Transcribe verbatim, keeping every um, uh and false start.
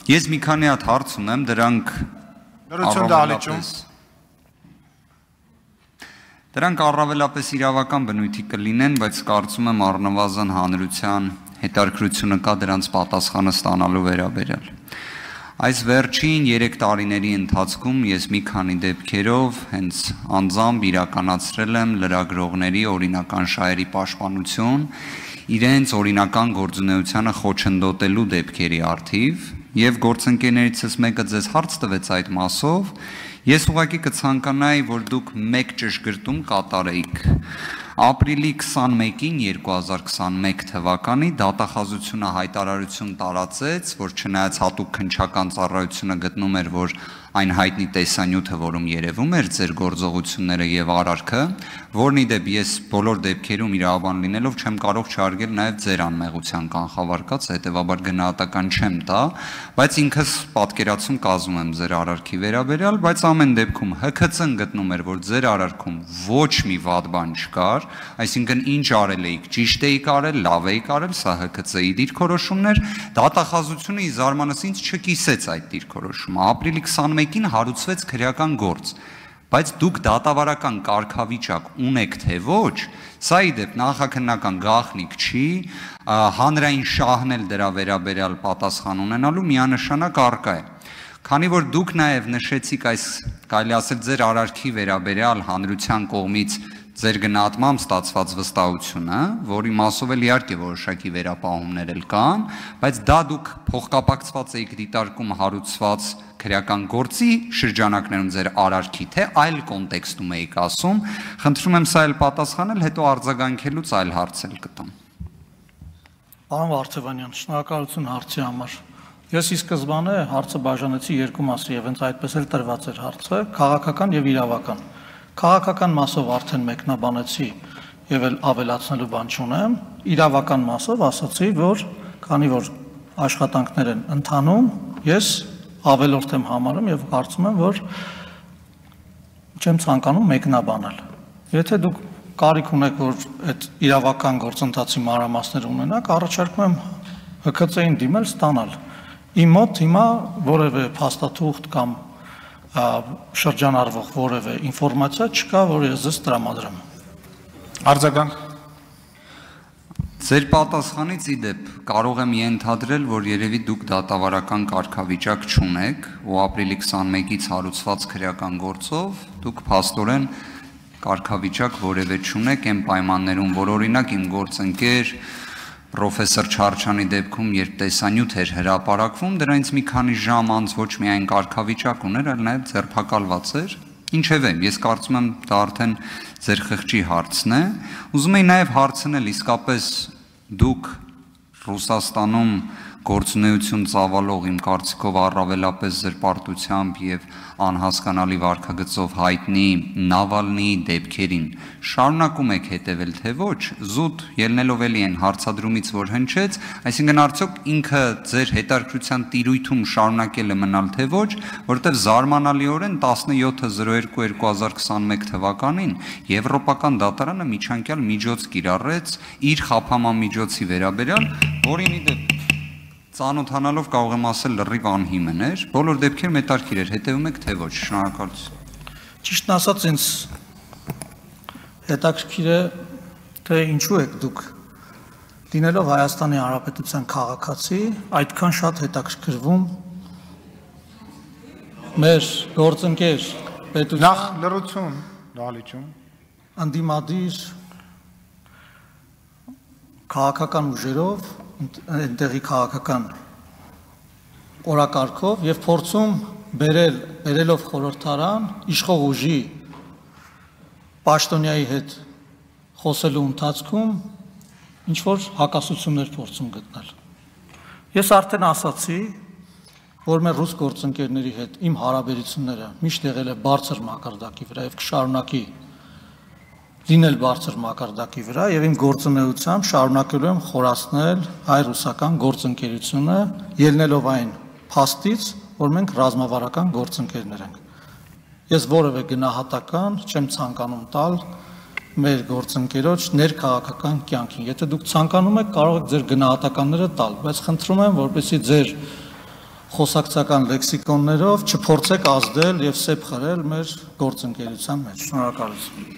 Ես մի քանի հատ հարց ունեմ, դրանք Դրանք առավելապես իրավական բնույթի կլինեն, բայց կարծում եմ առնվազն հանրության հետաքրքրությունը կա դրանց պատասխանը ստանալու վերաբերյալ։ Այս վերջին երեք տարիների ընթացքում ես մի քանի դեպքերով հենց անձամբ իրականացրել եմ լրագրողների օրինական շահերի պաշտպանություն, իրենց օրինական գործունեությանը խոչընդոտելու դեպքերի առթիվ, եւ գործընկերներիցս մեկը ձեզ հարց տվեց այդ մասով, ես ուղղակի կցանկանայի, որ դուք մեկ ճշգրտում կատարեիք։ Ապրիլի քսանմեկին երկու հազար քսանմեկ թվականի դատախազությունը հայտարարություն տարածեց, որ չնայած հատուկ քննչական ծառայությունը գտնում էր, որ այն հայտնի տեսանյութը, որում երևում էր ձեր գործողությունները եւ արարքը, որն ի դեպ ես բոլոր դեպքերում իրավաբան լինելով չեմ կարող չհարգել նաեւ ձեր անմեղության կանխավարկած, հետեւաբար գնահատական չեմ տա, բայց ինքս պատկերացում կազմում եմ ձեր արարքի վերաբերյալ, բայց ամեն դեպքում Հ K C-ն գտնում էր, որ ձեր արարքում ոչ մի վատ բան չկար, այսինքն ինչ արել էիք, ճիշտ էիք արել, լավ էիք արել, սա Հ K C-ի դիրքորոշումներ, դատախազությունը ի զարմանս ինձ չկիսեց այդ դիրքորոշումը։ Ապրիլի քսանմեկին հարուցվեց քրեական գործ, բայց դուք դատավարական կարգավիճակ ունեք թե ոչ, սա ի դեպ նախաքննական գաղտնիք չի, հանրային շահն էլ դրա վերաբերյալ պատասխան ունենալու միանշանակ առկա է։ Քանի որ դուք նաև նշեցիք այս, կարելի ասել, ձեր արարքի վերաբերյալ հանրության կողմից ձեր գնահատմամբ ստացված վստահությունը, որի մասով էլ իհարկե որոշակի վերապահումներ էլ կան, բայց դա դուք փոխկապակցված եք դիտարկում հարուցված քրեական գործի շրջանակներում ձեր արարքի, թե այլ կոնտեքստում եք ասում, խնդրում եմ սա էլ պատասխանել, հետո արձագանքելուց այլ հարց էլ կտամ։ Պարոն Վարդևանյան, շնորհակալություն հարցի համար։ Ես ի սկզբանե հարցը բաժանեցի երկու մասի եւ հենց այդպես էլ տրված էր հարցը, քաղաքական եւ իրավական։ Քաղաքական մասով արդեն մեկնաբանեցի եւ էլ ավելացնելու բան չունեմ, իրավական մասով ասացի, որ քանի որ աշխատանքներ են ընթանում, ես ավելորդ եմ համարում եւ կարծում եմ, որ չեմ ցանկանում մեկնաբանել։ Եթե դուք կարիք ունեք, որ այդ իրավական գործընթացի մանրամասներ ունենաք, առաջարկում եմ Հ K C-ին դիմել ստանալ։ Իմ մոտ հիմա որևէ փաստաթուղթ կամ շրջանառվող որևէ ինֆորմացիա չկա, որ ես ձեզ տրամադրեմ։ Արձագանք։ Ձեր պատասխանից ի դեպ կարող եմ ենթադրել, որ երևի դուք դատավարական կարգավիճակ չունեք ու ապրիլի քսանմեկից հարուցված քրեական գործով դուք փաստորեն կարգավիճակ որևէ չունեք այն պայմաններում, որ օրինակ իմ գործընկեր Պրոֆեսոր Չարչյանի դեպքում, երբ տեսանյութ էր հրապարակվում, դրանից մի քանի ժամ անց ոչ միայն կարգավիճակ ուներ, այլ նաև ձերբակալված էր։ Ինչևէ, ես կարծում եմ դա արդեն ձեր խղճի հարցն է։ Ուզում եի նաև հարցնել, իսկապես դուք Ռուսաստանում գործունեություն ծավալող իմ կարծիքով առավելապես զրպարտությամբ եւ անհասկանալի վարքագծով հայտնի Նավալնիի դեպքերին շարունակում եք հետևել թե ոչ, զուտ ելնելով էլի այն հարցադրումից, որ հնչեց, այսինքն արդյոք ինքը ձեր հետաքրքրության տիրույթում շարունակել է մնալ թե ոչ, որովհետեւ զարմանալիորեն տասնյոթ զրո երկու երկու հազար քսանմեկ թվականին Եվրոպական դատարանը միջանկյալ միջոց կիրառեց իր խափամամիջոցի վերաբերյալ, որին ի դեպ ծանոթանալով կարող եմ ասել լրիվ անհիմն էր, բոլոր դեպքերում հետաքրքիր էր, հետևում եք թե ոչ, շնորհակալություն։ Ճիշտն ասած ինձ հետաքրքիր է, թե ինչու եք դուք լինելով Հայաստանի Հանրապետության քաղաքացի, այդքան շատ հետաքրքրվում մեր գործընկեր պետության Նախ լրություն, դալիճում անդիմադիր քաղաքական ուժերով այնտեղի քաղաքական օրակարգով եւ փորձում բերել բերելով խորհրդարան իշխող ուժի պաշտոնյայի հետ խոսելու ընթացքում ինչ որ հակասություններ փորձում գտնել։ Ես արդեն ասացի, որ մեր ռուս գործընկերների հետ իմ հարաբերությունները միշտ եղել է բարձր մակարդակի վրա եւ կշարունակի լինել բարձր մակարդակի վրա եւ իմ գործունեությամբ շարունակելու եմ խորացնել հայ-ռուսական գործընկերությունը, ելնելով այն փաստից, որ մենք ռազմավարական գործընկերներ ենք։ Ես որևէ գնահատական չեմ ցանկանում տալ մեր գործընկերոջ ներքաղաքական կյանքին։ Եթե դուք ցանկանում եք, կարող եք ձեր գնահատականները տալ, բայց խնդրում եմ, որպեսզի ձեր խոսակցական լեքսիկոններով չփորձեք ազդել եւ սեպ խրել մեր գործընկերության մեջ։ Շնորհակալություն։